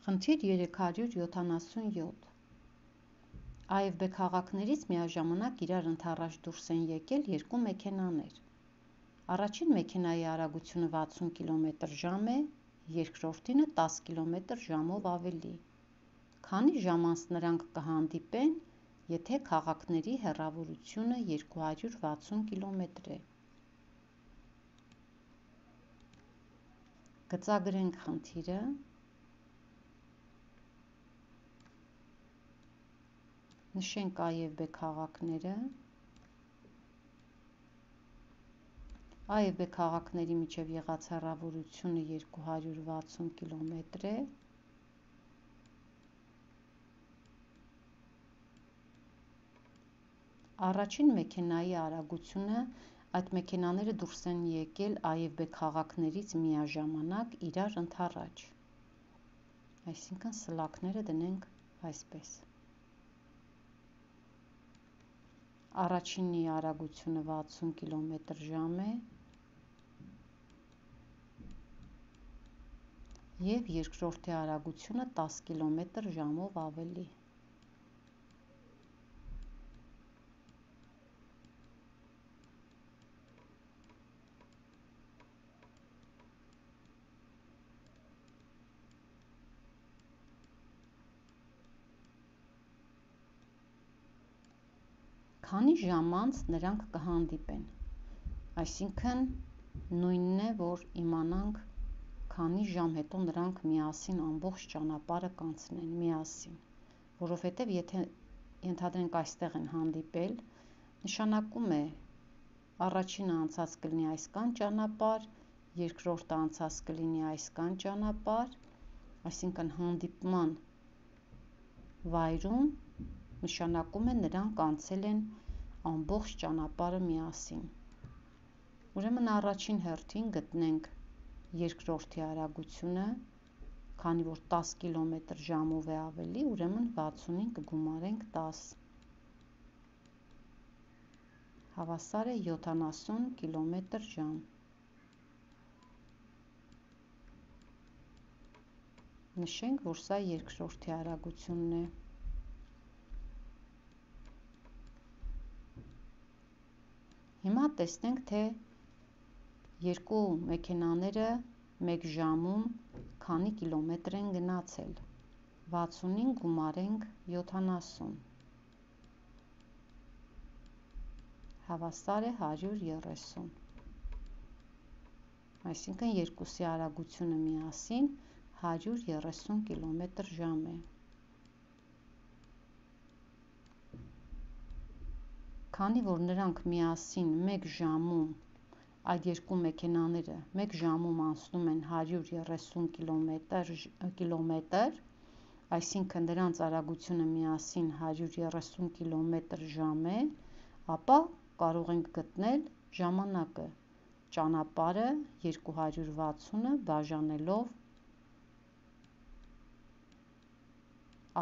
Խնդիր 377 A և B քաղաքներից միաժամանակ իրար ընդառաջ դուրս են եկել երկու մեքենաներ։ Առաջին մեքենայի արագությունը 60 կմ/ժ է, երկրորդինը 10 կմ/ժ-ով ավելի։ Քանի ժամ անց նրանք կհանդիպեն, եթե քաղաքների հեռավորությունը 260 կմ է։ Գծագրենք խնդիրը։ Նշենք A և B քաղաքները։ A և B քաղաքների միջև եղած հեռավորությունը 260 կմ է։ Առաջին մեքենայի արագությունը, այդ մեքենաները դուրս են եկել A և B քաղաքներից միաժամանակ իրար ընդառաջ, այսինքն սլաքները դնենք այսպես։ Առաջինի արագությունը 60 կմ/ժ է և երկրորդի արագությունը 10 կմ/ժ-ով ավելի։ Քանի ժամ անց նրանք կհանդիպեն, այսինքն նույնն է, որ իմանանք քանի ժամ հետո նրանք միասին ամբողջ ճանապարհը կանցնեն միասին, որովհետև եթե ենթադրենք այստեղ են հանդիպել, նշանակում է առաջինը անցած կլինի այսքան ճանապարհ, երկրորդը անցած կլինի այսքան ճանապարհ, այսինքն հանդիպման վայրում նշանակում է նրանք անցել են ամբողջ ճանապարհը միասին։ Ուրեմն առաջին հերթին գտնենք երկրորդի արագությունը, քանի որ 10 կմ/ժ-ով է ավելի, ուրեմն 60-ին կգումարենք 10, հավասար է 70 կմ/ժ։ Նշենք, որ սա երկրորդի արագությունն է։ Հիմա տեսնենք, թե երկու մեքենաները մեկ ժամում քանի կիլոմետր են գնացել։ 60-ին գումարենք 70, հավասար է 130, այսինքն երկուսի արագությունը միասին 130 կմ/ժ է։ Քանի որ նրանք միասին մեկ ժամում, այդ երկու մեքենաները մեկ ժամում անցնում են 130 կմ, այսինքն դրանց արագությունը միասին 130 կմ/ժ է, ապա կարող ենք գտնել ժամանակը, ճանապարհը 260-ը բաժանելով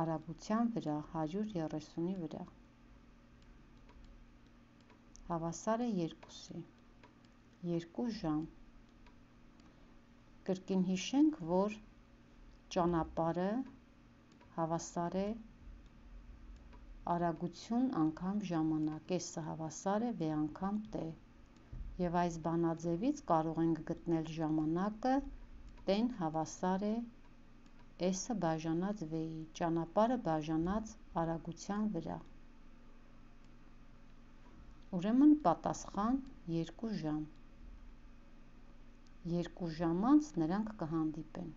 արագության վրա 130-ի վրա, հավասար է 2-ի, 2 ժամ։ Կրկին հիշենք, որ ճանապարհը հավասար է արագություն անգամ ժամանակ, S-ը հավասար է V անգամ T, և այս բանաձևից կարող ենք գտնել ժամանակը T-ն հավասար է S-ը բաժանած V-ի, ճանապարհը բաժանած արագության վրա։ Ուրեմն պատասխան 2 ժամ։ 2 ժամ անց նրանք կհանդիպեն։